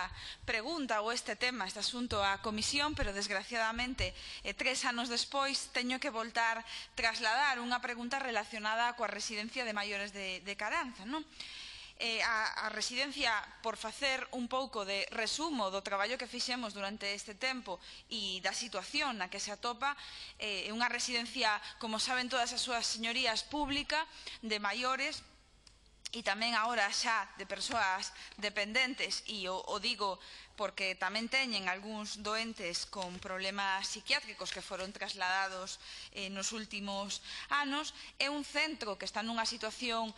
esta pregunta ou este tema, este asunto á Comisión, pero desgraciadamente 3 anos despois teño que voltar trasladar unha pregunta relacionada coa residencia de maiores de Caranza, non? A residencia, por facer un pouco de resumo do traballo que fixemos durante este tempo e da situación na que se atopa, é unha residencia, como saben todas as súas señorías, pública de maiores, e tamén agora xa de persoas dependentes, e o digo porque tamén teñen algúns doentes con problemas psiquiátricos que foron trasladados nos últimos anos. É un centro que está nunha situación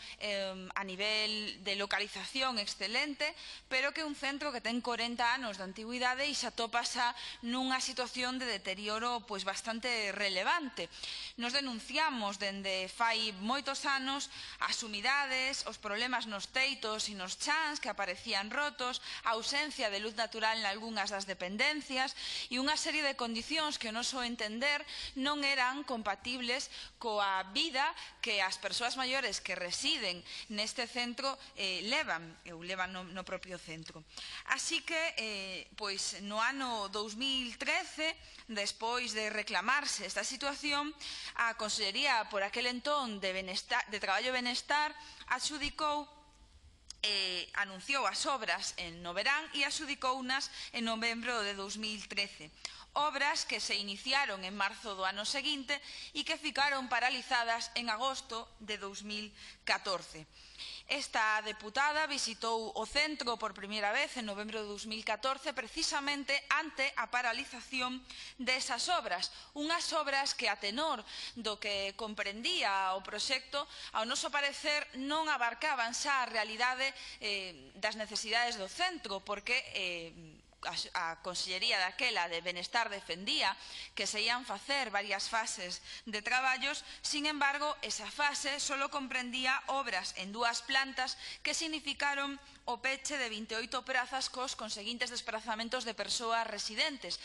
a nivel de localización excelente, pero que é un centro que ten 40 anos de antigüidade e xa atopa xa nunha situación de deterioro bastante relevante. Nos denunciamos dende fai moitos anos as humidades, os problemas nos teitos e nos chans que aparecían rotos, a ausencia de luz natural en algunhas das dependencias e unha serie de condicións que, ao noso entender, non eran compatibles coa vida que as persoas maiores que residen neste centro levan no propio centro. Así que, no ano 2013, despois de reclamarse esta situación, a Consellería, por aquel entón, de Traballo e Benestar, anunciou as obras no verán e adxudicounas en novembro de 2013. Obras que se iniciaron en marzo do ano seguinte e que ficaron paralizadas en agosto de 2014. Esta deputada visitou o centro por primeira vez en novembro de 2014 precisamente ante a paralización desas obras. Unhas obras que, a tenor do que comprendía o proxecto, ao noso parecer non abarcaban xa a realidade das necesidades do centro, porque a Consellería daquela de Benestar defendía que se ían facer varias fases de traballos. Sin embargo, esa fase só comprendía obras en 2 plantas que significaron o peche de 28 prazas cos conseguintes desplazamentos de persoas residentes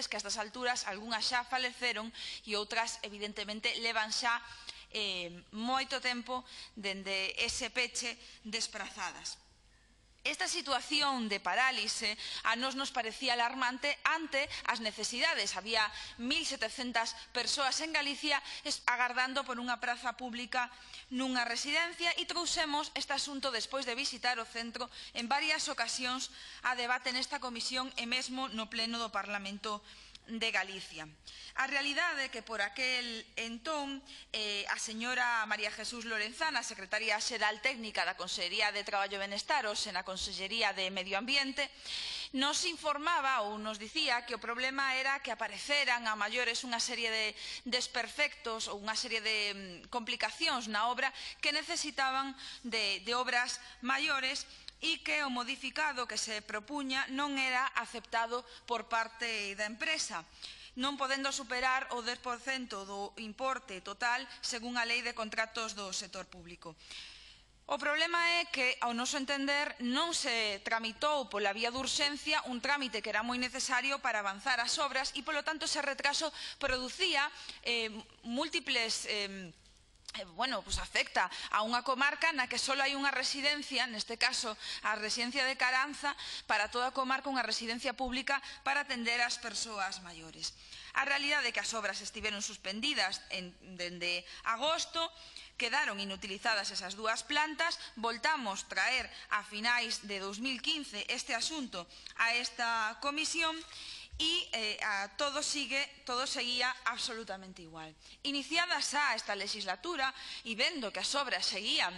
que a estas alturas algunhas xa faleceron e outras evidentemente levan xa moito tempo dende ese peche desprazadas. Esta situación de parálise a nos parecía alarmante ante as necesidades. Había 1.700 persoas en Galicia agardando por unha praza pública nunha residencia e trouxemos este asunto despois de visitar o centro en varias ocasións a debate nesta comisión e mesmo no pleno do Parlamento de Galicia. A realidade é que por aquel entón a señora María Jesús Lorenzana, secretaria xeral técnica da Consellería de Traballo e Benestar, hoxe na Consellería de Medio Ambiente, nos informaba ou nos dicía que o problema era que apareceran a maiores unha serie de desperfectos ou unha serie de complicacións na obra que necesitaban de obras maiores e que o modificado que se propuña non era aceptado por parte da empresa, non podendo superar o 10% do importe total según a Lei de Contratos do Sector Público. O problema é que, ao noso entender, non se tramitou pola vía de urxencia un trámite que era moi necesario para avanzar as obras e, polo tanto, ese retraso producía múltiples afecta a unha comarca na que só hai unha residencia, neste caso a residencia de Caranza, para toda a comarca unha residencia pública para atender as persoas maiores. A realidade é que as obras estiveron suspendidas dende agosto, quedaron inutilizadas esas 2 plantas, voltamos traer a finais de 2015 este asunto a esta comisión e todo seguía absolutamente igual. Iniciada xa esta legislatura e vendo que as obras seguían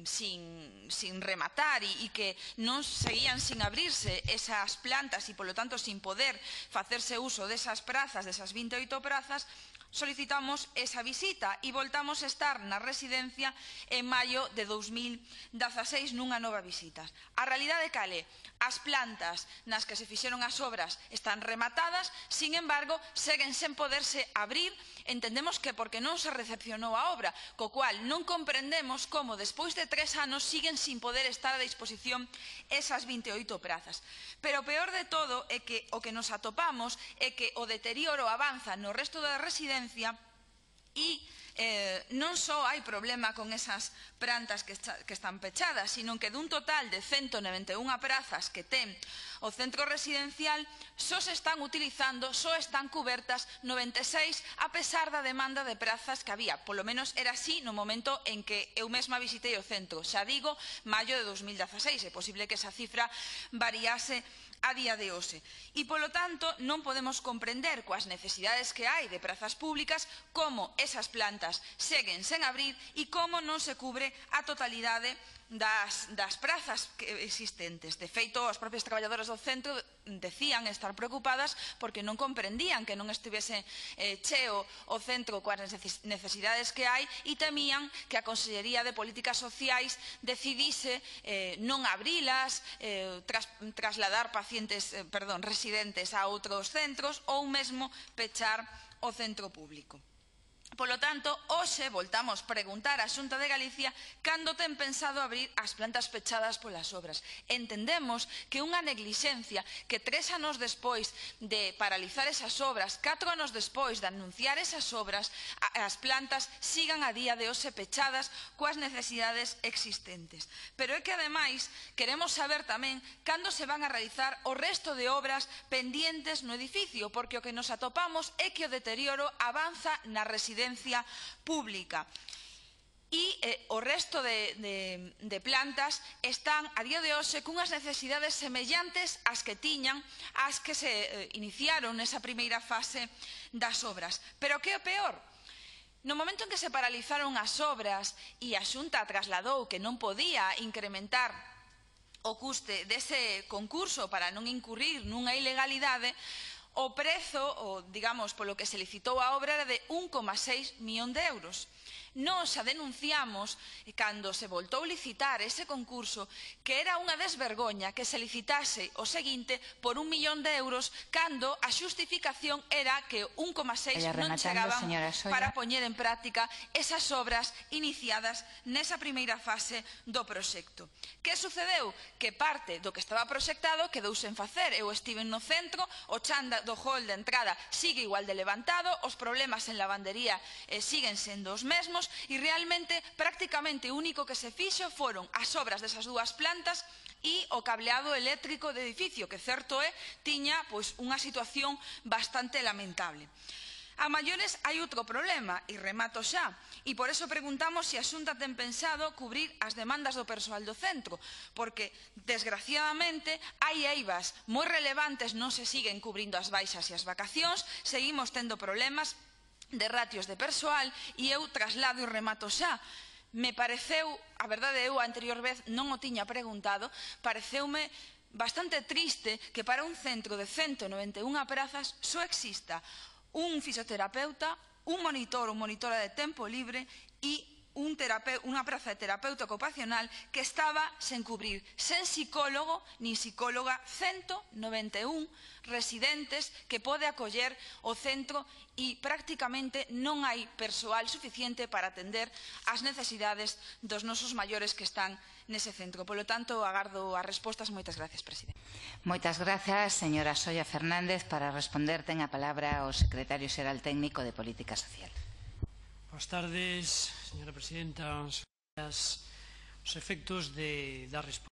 sin rematar e que non seguían sin abrirse esas plantas e, polo tanto, sin poder facerse uso desas prazas, desas 28 prazas, solicitamos esa visita e voltamos a estar na residencia en maio de 2016 nunha nova visita. A realidade cal é? As plantas nas que se fixeron as obras están rematadas, sin embargo, seguen sen poderse abrir. Entendemos que porque non se recepcionou a obra, co cual non comprendemos como despois de 3 anos siguen sin poder estar a disposición esas 28 prazas. Pero o peor de todo é que o que nos atopamos é que o deterioro avanza no resto da residencia e non só hai problema con esas plantas que están pechadas, sino que dun total de 191 prazas que ten o centro residencial, só se están utilizando, só están cubertas 96, a pesar da demanda de prazas que había. Polo menos era así no momento en que eu mesma visitei o centro. Xa digo, maio de 2016. É posible que esa cifra variase a día de hoxe. E, polo tanto, non podemos comprender coas necesidades que hai de prazas públicas como esas plantas seguen sen abrir e como non se cubre a totalidade das prazas existentes. De feito, as propias traballadoras do centro decían estar preocupadas porque non comprendían que non estivese cheo o centro coas necesidades que hai e temían que a Consellería de Políticas Sociais decidise non abrilas, trasladar residentes a outros centros ou mesmo pechar o centro público. Polo tanto, hoxe voltamos preguntar á Xunta de Galicia cando ten pensado abrir as plantas pechadas polas obras. Entendemos que unha neglixencia que 3 anos despois de paralizar esas obras, 4 anos despois de anunciar esas obras, as plantas sigan a día de hoxe pechadas coas necesidades existentes. Pero é que, ademais, queremos saber tamén cando se van a realizar o resto de obras pendientes no edificio, porque o que nos atopamos é que o deterioro avanza na residencia pública. E o resto de plantas están a día de hoxe cunhas necesidades semellantes ás que tiñan as que se iniciaron nesa primeira fase das obras. Pero que é o peor? No momento en que se paralizaron as obras e a Xunta trasladou que non podía incrementar o custe dese concurso para non incurrir nunha ilegalidade, o prezo, digamos, polo que se licitou a obra era de 1,6 millón de euros. Nós a denunciamos cando se voltou licitar ese concurso que era unha desvergoña que se licitase o seguinte por 1 millón de euros cando a xustificación era que 1,6 non chegaban para poñer en práctica esas obras iniciadas nesa primeira fase do proxecto. Que sucedeu? Que parte do que estaba proxectado quedou sen facer. Eu estive no centro, o chan do hall de entrada sigue igual de levantado, os problemas en lavandería siguen sendo os mesmos e realmente prácticamente o único que se fixo foron as obras desas dúas plantas e o cableado eléctrico do edificio, que certo é, tiña unha situación bastante lamentable. A maiores hai outro problema, e remato xa, e por eso preguntamos se a Xunta ten pensado cubrir as demandas do persoal do centro, porque, desgraciadamente, hai eivas moi relevantes, non se siguen cubrindo as baixas e as vacacións, seguimos tendo problemas de ratios de persoal e eu traslado e remato xa. Me pareceu, a verdade eu a anterior vez non o tiña preguntado, pareceume bastante triste que para un centro de 191 prazas só exista un fisioterapeuta, un monitor ou monitora de tempo libre e unha praza de terapeuta ocupacional que estaba sen cubrir, sen psicólogo ni psicóloga, 191 residentes que pode acoller o centro e prácticamente non hai persoal suficiente para atender as necesidades dos nosos maiores que están nese centro. Polo tanto, agardo as respostas. Moitas gracias, presidente. Moitas grazas, señora Solla Fernández. Para responder, ten a palabra o secretario xeral técnico de Política Social. Boas tardes, señora presidenta. Os efectos da resposta